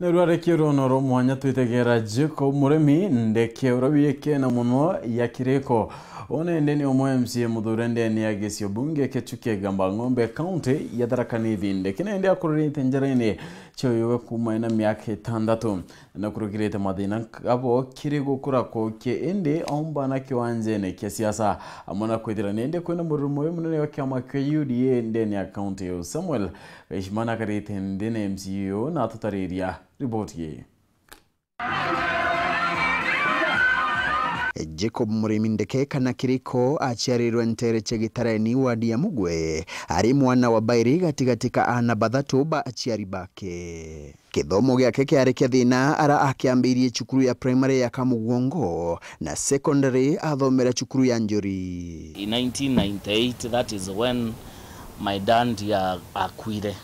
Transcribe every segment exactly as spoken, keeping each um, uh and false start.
Na rwarekia ruono rwa mwanya twitegera Jacob Murimi Ndeke, uria wiikene mono ya Kiriko. One ndi ni umwe M C A muthure ndene ya gicio bunge kia Chuka Igamba Ng'ombe, kaunti ya Tharaka Nithi. Ndeke nende akururite njarene cia uyuwe kuuma ena miaka itandatu. Na kurugirite mathina abo kiri gukura kuki, indi aumba na kiwanjene kia siasa, amwe na kwithira nende kwina mururu mwe munene wa kiama kia U D A ndene ya kaunti iyo. Samuel Gaishimana akarite nthi na M C A uyu na atutariria riboti ii. Jacob Murimi Ndeke kana Kiriko aciarirwe ntere cia Gitareni, wadi ya Mugwe. Ari mwana wa bairi gatigati ka aana bathatu ba aciari bake. Kithomo giake kiari kia thina ara akiambirie cukuru ya primary ya Kamugongo na secondary athomera cukuru ya Njuri. In nineteen ninety-eight, that is when my dad a-, akuire.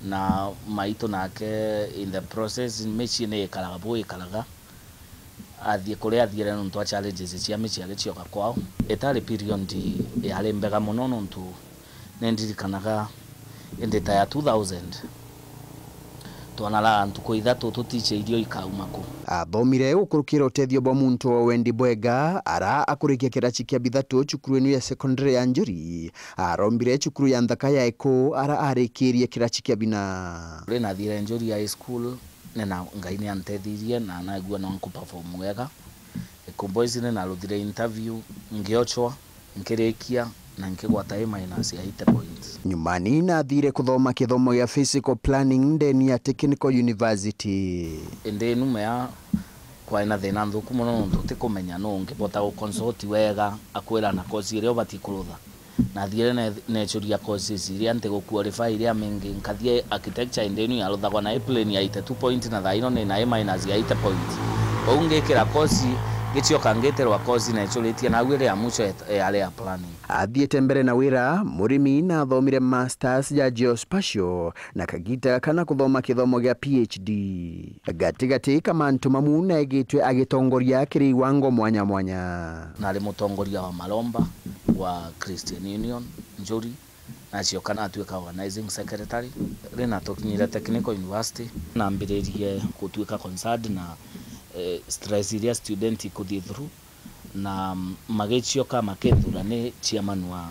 Na maitu nake, in the process, micii ni ikaraga bu ikaraga. Athie kuria athiere nontu wa challenges cia micii agicioka kwao. Itari period yari mbega mono nontu nindirikanaga indi ta ya two thousand, twanaraga ntuku ithatu tutiche irio ikauma ku. Athomire gukurukira utethio bwa muntu wa wendi bwega, ara akurikia kirachi kia bithatu cukuru inu ya secondary ya Njuri. Arombire cukuru ya nthaka ya Eku, ara arikirie kirachi kia bina. Ri nathiire Njuri High School, ni na Ngai ni antethirie na naigua no nkuperform wega. Eku Boys ni naruthire interview, ngiochwa, nkirikia, na nkigwata A minus ya eighty points. Nyumani nathire kuthoma kithomo gia physical planning ndeni ya Technical University. Indi numea kwai na thina nthuku mono nontu utikumenya nu ungibota guconsult wega akwira na course iria ubati kurutha. Nathiire ne-, neechuria courses iria ntiguqualify iria mingi, nkathie architecture indi inu yaruthagwa na A plain ya eighty two point na thaa ino ni na A minus ya eighty point. Kwou ngikira course, ngicioka ngitirwa course neechuritie, nau iria ya mwisho yet-, yari ya planning. Athiite mbere na wira, Murimi nathomire masters ya geospatial na kagita gaka na kuthoma kithomo gia P H D. Gatigati ka mantu mamu neegitwe agitongoria kiri iwango mwanya mwanya. Nari mutongoria wa maromba wa Christian Union Njuri, nacioka natuika organizing secretary. Ri natukinyire Technical University, nambiririe gutuika concerned na, eh, stress iria student ikuthii through, na magicioka makethura ni chairman wa,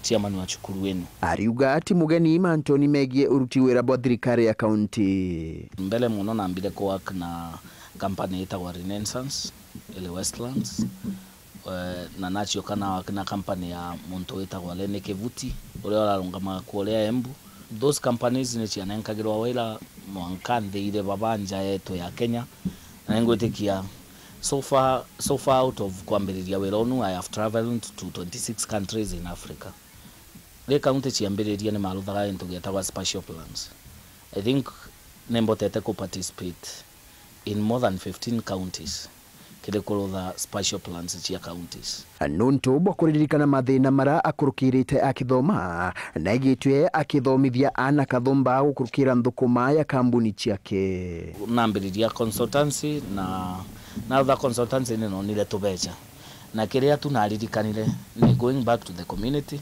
chairman wa cukuru ino. Ariuga ati mugeni mantuni megie uruti wira bwa thirikari ya kaunti. Mbere mono nambire kuwork na company itagwa Renaissance, iri Westlands. Eh, na nacioka na work na company ya muntu witagwa Lenny Kivuti, uria urarungamaga kuria Embu. Those companies ni cianenkagirwa wira mwanka nthi iri baba nja yetu ya Kenya. Na ningwitikia so far, so far out of kwambiriria wira unu, I have travelled to twenty-six countries in Africa. Ri county ciambiririe ni maruthaga into gietagwa spatial plans. I think nimbotete ku participate in more than fifteen counties kiri kurutha spatial plans cia counties. Nuntu bwa kuririkana mathina mara akurukirite akithoma, naigitwe akithomithia aana kathumba gukurukira nthukuma ya kambuni ciake. Nambiriria consultancy na, na other consultancy ni nonire tubecha. Na kiria tu naririkanire ni going back to the community,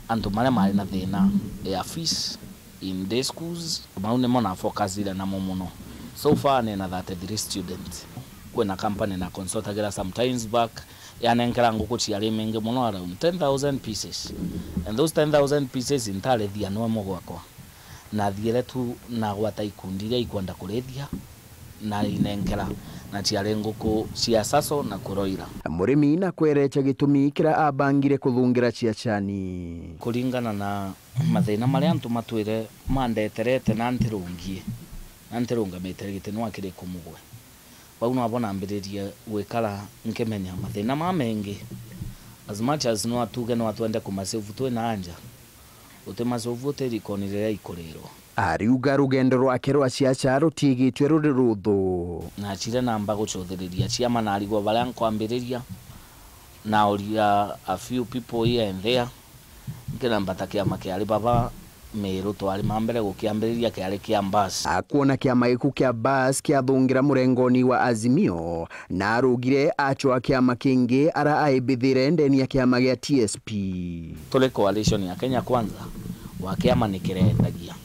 antu maria mari na thina ya fees in day schools, mau nimo na focusire namo muno. So far nina thirty-three students. Kwina company na consultagira some times back, yanenkera nguku ciari mingi muno, around ten thousand pieces. And those ten thousand pieces ntarithia no imwe gwakwa. Nathiire tu nagwata ikundi iria ikwenda kurithia, na inenkera, na ciari nguku cia saso na kuroira. Murimi nakwerecha gitumi kiria abangire kuthungira ciachani. Kuringana na mathina maria antu matwire mandeterete na ntirungie, na ntirungamite giti nwa kiri kumugwe. Bau nabo nambiririe gwikara nkimenya mathina ma mengi. As much as no atuge no atwende kumasolve twi na anja, utimasolve utirikoni riria ikurirwa. Ariuga rugendo rwake rwa ciaca rutiigitwe ruri ruthu. Nachire namba gucuthiriria ciama, narigwa baria nkwambiriria, nauria a few people here and there. Nkirambata kiama kiari baba Miru, twari ma mbere gukiambiriria, kiari kia Mbas. Akwona kiama giku kia Mbas kiathungira murengoni wa Azimio, na arugire acwa kiama kingi ara aibithire ndeni ya kiama gia T S P. Turi coalition ya Kenya Kwanza, wa kiama ni kirendagia.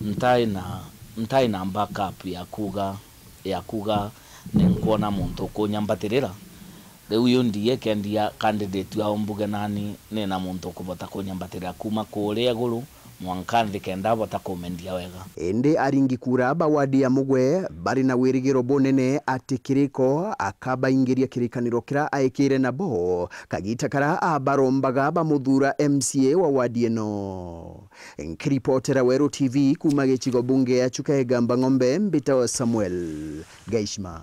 Ntai na ntai na backup ya kuga, ya kuga ni nkwona muntu ukunyambatirira. Riu U D A ikendia candidate wao mbuge nani, ni na muntu ukuvota kunyambatirira kuma kuria iguru mwanka nthi kenda abota kumendia wega. Indi aringi kura ba wadi ya Mugwe bari na wirigiro bunene ati Kiriko akabaingiria kirikaniro kiria aikire nabo kagita karia abarombaga bamuthura M C A wa wadi ino. Nkiripotera Weru T V kuma gicigo bunge ya Chuka Igamba Ng'ombe, mbitagwa Samuel Gaishma.